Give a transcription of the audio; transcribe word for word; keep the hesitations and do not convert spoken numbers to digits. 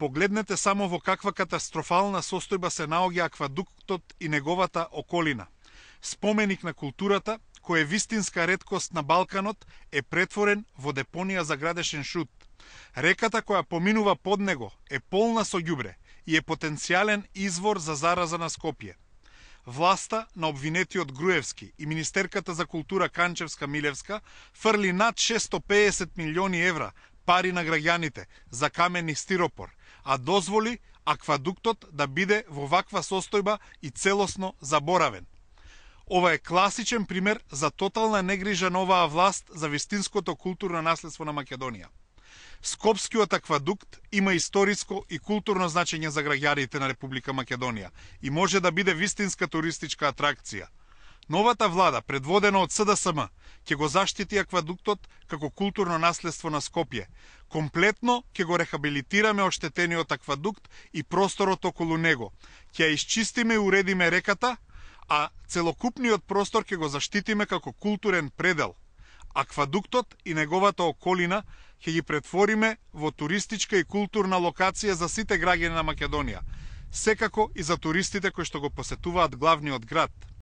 Погледнете само во каква катастрофална состојба се наоѓа аквадуктот и неговата околина. Споменик на културата, кој е вистинска реткост на Балканот, е претворен во депонија за градешен шут. Реката која поминува под него е полна со ѓубре и е потенцијален извор за зараза на Скопје. Власта на обвинетиот Груевски и Министерката за култура Канчевска-Милевска фрли над шесто педесет милиони евра пари на граѓаните за камен и стиропор, а дозволи аквадуктот да биде во ваква состојба и целосно заборавен. Ова е класичен пример за тотална негрижа на оваа власт за вистинското културно наследство на Македонија. Скопскиот аквадукт има историско и културно значење за граѓаните на Република Македонија и може да биде вистинска туристичка атракција. Новата влада, предводена од С Д С М, ќе го заштити аквадуктот како културно наследство на Скопје. Комплетно ќе го рехабилитираме оштетениот аквадукт и просторот околу него. Ќе ја исчистиме и уредиме реката, а целокупниот простор ќе го заштитиме како културен предел. Аквадуктот и неговата околина ќе ги претвориме во туристичка и културна локација за сите граѓани на Македонија, секако и за туристите кои што го посетуваат главниот град.